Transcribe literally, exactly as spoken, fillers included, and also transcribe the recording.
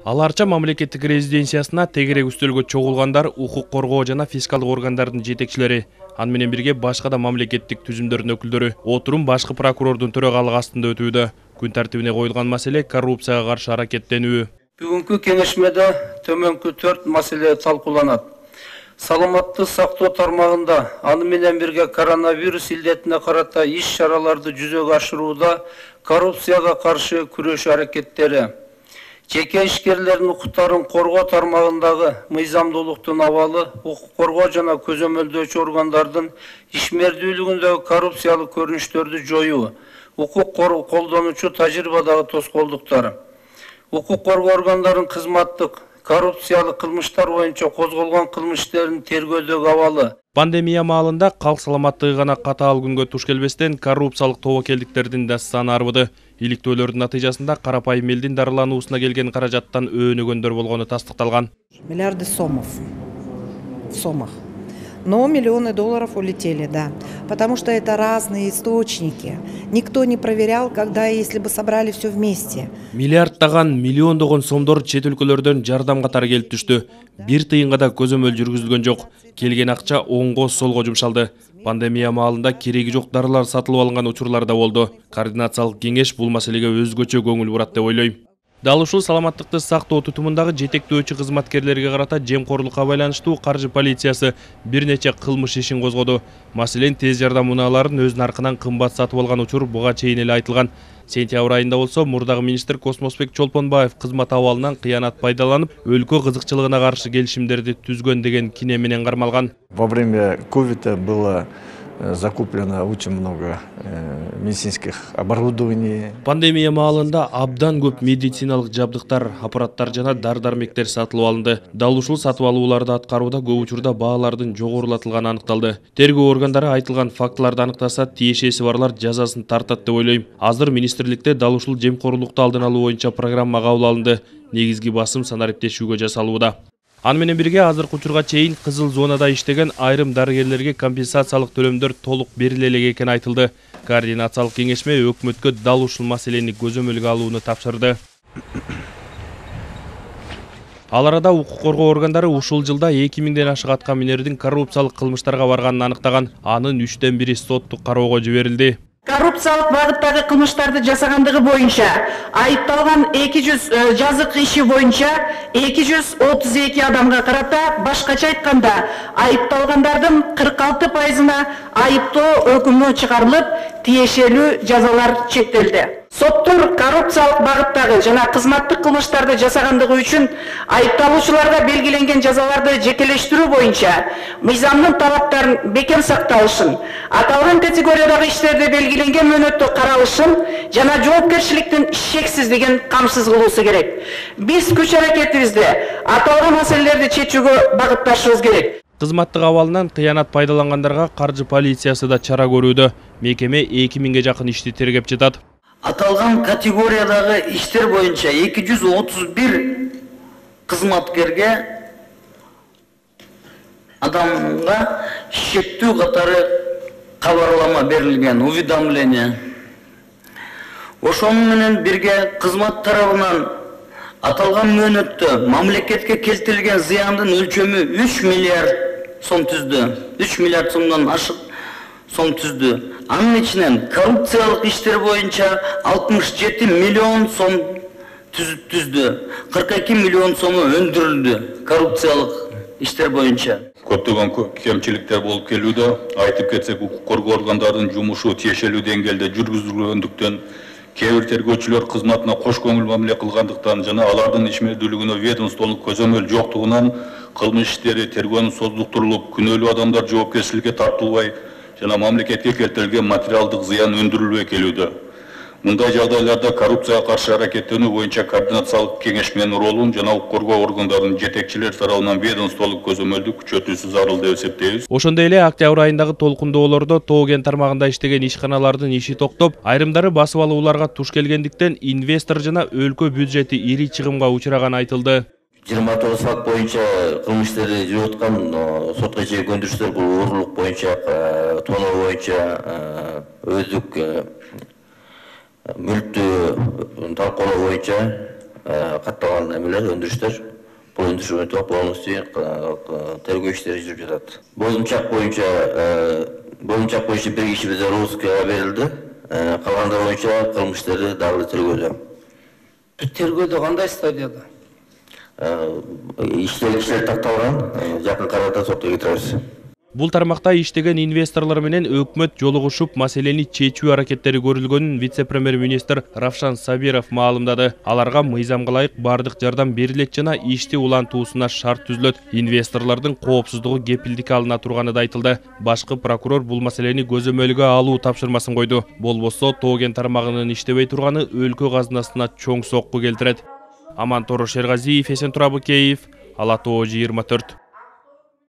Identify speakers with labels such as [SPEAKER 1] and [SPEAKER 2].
[SPEAKER 1] Аларча мамлекеттик резиденциясына тегерек үстөлгө чогулгандар укук коргоо жана фискалдык органдардын жетекчилери, аны менен бирге башка да мамлекеттик түзүмдөрдүн өкүлдөрү. Отурум башкы прокурордун төрагалыгы астында өтүүдө. Күн тартибине коюлган маселе коррупцияга каршы аракеттенүү.
[SPEAKER 2] Бүгүнкү кеңешмеде төмөнкү төрт маселе талкууланат. Саламаттык сактоо тармагында аны менен бирге коронавирус илдетине карата иш чараларды жүзөгө ашырууда коррупцияга каршы күрөшүү аракеттери, жеке ишкерлердин укуктарын коргоо тармагындагы мыйзамдуулуктун абалы, укук коргоо жана көзөмөлдөөчү органдардын ишмердүүлүгүндөгү коррупциялык көрүнүштөрдү жоюу, укук колдонуучу тажрыйбадагы тоскоолдуктар, укук коргоо органдарынын кызматтык коррупциялык кылмыштар боюнча козголгон кылмыш иштерин тергөөдөгү абалы.
[SPEAKER 1] Пандемия маалында калк саламаттыгы гана катаал күнгө туш келбестен коррупциялык тобокелдиктердин да саны арбыды. Иликтөөлөрдүн натыйжасында карапайым элдин дарылануусуна келген каражаттан өөнөгөндөр болгону тастыкталган.
[SPEAKER 3] Миллиарды сомов в сомах. Но миллионы долларов улетели, да. Потому что это разные источники. Никто не проверял, когда и если бы собрали все вместе.
[SPEAKER 1] Миллиардтаган, миллиондогон сомдор чет өлкөлөрдөн жардам катары келип түштү. Бир тыйынга да көзөмөл жүргүзүлгөн жок. Келген акча оңго солго жумшалды. Пандемия маалында кереги жок дарылар сатылып алынган учурлар да болду. Координациялык кеңеш бул маселеге өзгөчө көңүл бурат деп ойлойм. Дал ушул саламаттыкты сактоо тутумундагы жетектөөчү кызматкерлерге карата жемкорлукка байланыштуу каржы полициясы бир нече кылмыш ишин козгоду. Маселен, тез жардам унааларын өз наркынан кымбат сатып алган учур буга чейин эле айтылган. Сентябрь айында болсо мурдагы министр Космосбек Чолпонбаев кызмат абалынан кыянат пайдаланып, өлкө кызыкчылыгына каршы келишимдерди түзгөн деген кине менен кармалган.
[SPEAKER 4] Во время ковида было закуплено очень много медицинских оборудований.
[SPEAKER 1] Пандемия маалында абдан көп медициналык жабдыктар, аппараттар жана дар-дармектер сатылып алынды. Дал ушул сатып алууларды аткарууда көп учурда баалардын жогорулатылганы аныкталды. Тергөө органдары айтылган фактыларды аныктаса, тиешеси барлар жазасын тартат деп ойлойм. Азыр министрликте дал ушул жемкорлукту алдын алуу боюнча программа кабыл алынды. Негизги басым санариптешүүгө жасалууда. Аны менен бирге азыркы учурга чейин кызыл зонада иштеген айрым дарыгерлерге компенсациялык төлөмдөр толук бериле элек экени айтылды. Координациялык кеңешме өкмөткө дал ушул маселени көзөмөлгө алууну тапшырды. Ал арада укук коргоо органдары ушул жылда эки миңден ашык атка минердин коррупциялык кылмыштарга барганын аныктаган. Анын үчтөн бири соттук кароого жиберилди.
[SPEAKER 5] Коррупциялык багыттагы кылмыштарды жасагандыгы боюнча айыпталган эки жүз жазык иши боюнча эки жүз отуз эки адамга карата, башкача айтканда айыпталгандардын кырк алты пайызына айыптоо өкүмү чыгарылып, тиешелүү жазалар чектелди. Соттор коррупциялык багыттагы жана кызматтык кылмыштарды жасагандыгы үчүн айыпталуучуларга белгиленген жазаларды жекелештирүү боюнча мыйзамдын талаптарын бекем сакталышын, аталган категориядагы иштерде белгиленген мөөнөттө каралышын жана жоопкерчиликтин шексиздигин камсыз кылуусу керек. Биз күч аракетибизде аталган маселелерди чечүүгө багытташыбыз керек.
[SPEAKER 1] Кызматтык абалынан кыянат пайдалангандарга каржы полициясы да чара көрүүдө. Мекеме эки миңге жакын ишти тергеп жатат.
[SPEAKER 6] Аталган категориядагы иштер боюнча эки жүз отуз бир кызматкерге адамга шектүү катары кабарлама берилген, уведомление. Ошону менен бирге кызмат тарабынан аталган мөөнөттө мамлекетке келтирилген зыяндын өлчөмү үч миллиард сом түздү. үч миллиард сомдон ашык сом түздү. Анын ичинен коррупциялык иштер боюнча алтымыш жети миллион сом түздү. кырк эки миллион сому өндүрүлдү коррупциялык иштер боюнча.
[SPEAKER 7] Көптөгөн кемчиликтер болуп келүүдө. Айтып кетсек, укук коргоо органдарынын жумушу тиешелүү деңгээлде жүргүзүлгөндүктөн, кээ бир тергөөчүлөр кызматына кош көңүл мамиле кылгандыктан жана алардын ишмердүүлүгүнө ведомстволук көзөмөл жоктугунан кылмыш иштери тергөөнүн создуктурулуп, күнөөлүү адамдар жоопкерчиликке тартылбай жана мамлекетке келтирилген материалдык зыян өндүрүлбөй келүүдө. Мындай жагдайларда коррупцияга каршы аракеттенүү боюнча координациялык кеңешменин ролун жана укук коргоо органдарынын жетекчилер тарабынан ведомстволук көзөмөлдү күчөтүүсү зарыл деп эсептейбиз.
[SPEAKER 1] Ошондой эле октябрь айындагы толкундоолордо Тоо кен тармагында иштеген ишканалардын иши токтоп, айрымдары басып алууларга туш келгендиктен инвестор жана өлкө бюджети ири чыгымга учураганы айтылды.
[SPEAKER 8] жыйырма тогуз факт боюнча кылмыш иштери жүрүп аткан, сотко чейинки өндүрүштөр бул уурулук боюнча, тоноо боюнча, өздүк мүлктү талкуулоо боюнча катталган эмелер, өндүрүштөр. Бул өндүрүштөр полностью тергөө иштери жүрүп жатат. Бозумчак боюнча Бозумчак боюнча бир киши бизде розыскага берилди. Калгандар боюнча кылмыштары дагы тергөөдө.
[SPEAKER 2] Тергөөдө кандай стадияда?
[SPEAKER 8] Иштер кишилер такталган, жакын арада сотко кетиребиз.
[SPEAKER 1] Бул тармакта иштеген инвесторлор менен өкмөт жолугушуп маселени чечүү аракеттери көрүлгөнүн вице-премьер-министр Равшан Сабиров маалымдады. Аларга мыйзамга ылайык бардык жардам берилет жана ишти улантуусуна шарт түзүлөт. Инвесторлордун коопсуздугу кепилдикке алына турганы да айтылды. Башкы прокурор бул маселени көзөмөлгө алуу тапшырмасын койду. Болбосо Тоген тармагынын иштебей турганы өлкө казынасына чоң сокку келтирет. Амантор Шергазиев, Эсен Турабы Кеев, Ала Тоо жыйырма төрт.